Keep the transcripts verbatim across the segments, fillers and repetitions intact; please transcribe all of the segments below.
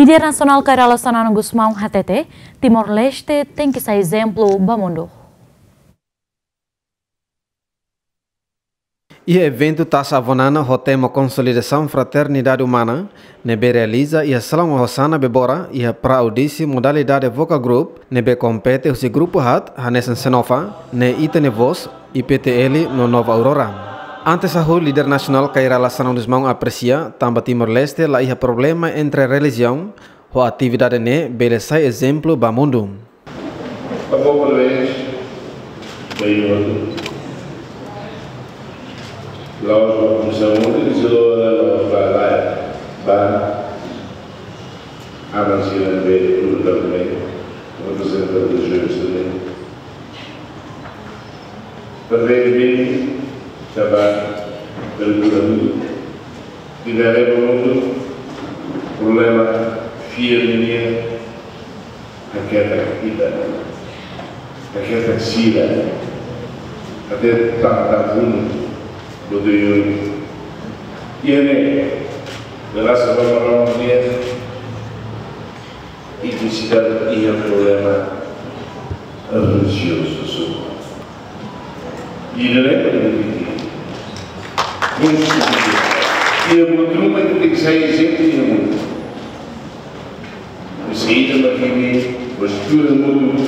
Líder nasionál Kay Rala Xanana Gusmão hatete, Timor-Leste tenke sai ezemplu ba mundu. Iha eventu Taxa Avonana ho tema Konsolidasaun Fraternidade Umana, ne'ebé realiza iha Salaun Hosana Bebora, iha Pra Udisi modalidade Vocal Group, ne'ebé kompete husi grupu haat, hanesan Xenofa, Ne'e Ita-nia Voz, I P T L no Nova Aurora. Antes hahú, líder nasionál Kay Rala Xanana Gusmão apresia, tanba Timor-Leste la iha problema entre relijiaun, ho atividade ne'e bele sai ezemplu ba mundu. Favór, parabéns. Bem, outro. Laos ba komisaun, eles lá, lá, lá, lá, lá, avansiran be tudo também, representante dos jovens também. Parabéns, bem, trabalho, pelo mundo. Tiver aí no mundo, problema, fear, menina, haketak ita, haketak sira, até tanta fundo, bodoioi. Iha ne'e, graças a Maromak nian, etnisidade iha problema relijiozu só. I ne'e para dividir. Konstitui. I buat ruma ita tenke sai ezemplu iha mundu. Saida mak imi, estuda mundu,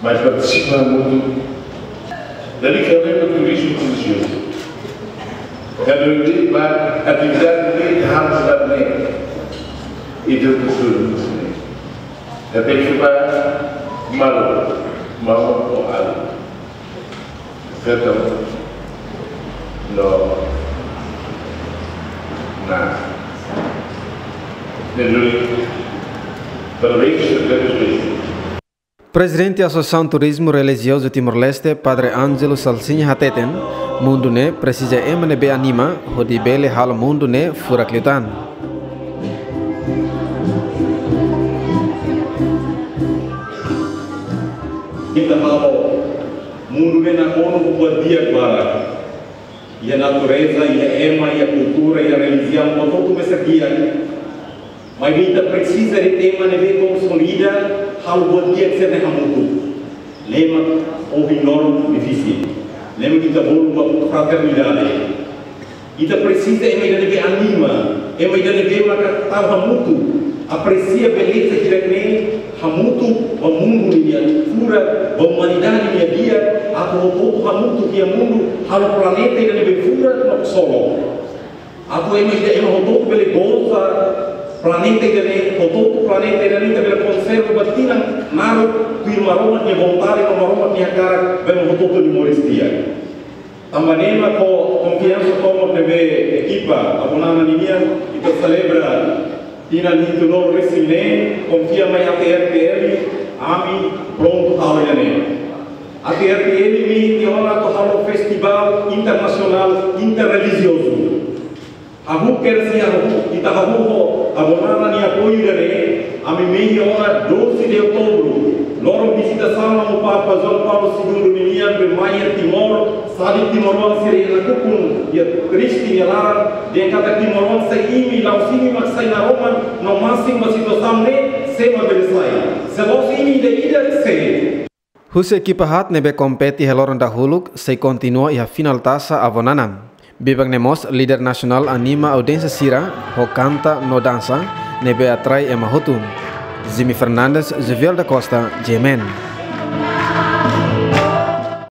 mai partisipa mundu. Dali ka leva turizmu relijiozu. Kada vez ba atividade de harus dar ne. Itu betul. Tapi coba malu, mau ko alu. Feto. No. Na. Dulu. Parabéns, parabéns. Prezidente Asosiasaun Turizmu Relijiozu Timor-Leste, Padre Ângelo Salsinha hateten, mundu ne'e presiza ema ne'ebé anima, hodi bele halo mundu ne'e furak liután. Ita halo mundu ne'e nakonu ho buat di'ak barak. Iha natureza, iha ema, iha kultura, iha relijiaun, buat hotu mesak di'ak. Maibé ita presiza de ema ne'ebé konsolida, halo buat di'ak sira-ne'e hamutuk. Ne'e mak ohin loron difisil. Ne'e mak ita bolu ba fraternidade. Ita presiza ema ida ne'ebé anima, ema ida ne'ebé maka tau hamutuk, apresia beleza hirak-ne'e, hamutuk ba mundu ninia furak, ba umanidade ninia di'ak, atu hotu-hotu hamutuk iha mundu, halo planeta ida ne'ebé furak no ksolok. Atu ema ida, ema hotu-hotu bele goza planeta ida-ne'e, hotu-hotu planeta ida-ne'e ita bele konserva ba tinan naruk, tuir Maromak nia vontade, no Maromak nia hakarak, ba ema hotu-hotu nia moris di'ak. Tanba ne'e mak ho konfiansa tomak ne'ebé ekipa Avonana ninian, ita selebra tinan hitunulu-resin-neen, konfia mai A T R T L, ami prontu halo ida-ne'e. A T R T L ne'e nia ona atu halo festivál internasionál interrelijiozu. Hahú kedas iha hahú, ita hahú ho Avonana nia apoiu ida-ne'e, ami mehi ona doze de outubro, loron vizitasaun Amu Papa João Paulo Segundo ninian be mai iha Timor, sadik timoroan sira iha nakukun, iha triste nia laran, dehan katak timoroan se imi, la'ós imi mak sai naroman, no masin ba situasaun ne'e, sé mak bele sai. Se la'ós imi ida-idak, sé. Husi ekipa haat ne'ebé kompete iha loron dahuluk, sei kontinua iha final Taxa Avonana. Biban ne'e mós líder nasionál anima audiénsia sira ho kanta no dansa, ne'ebé atrai ema hotu. Jimmy Fernandes, Jovial da Costa, G M N.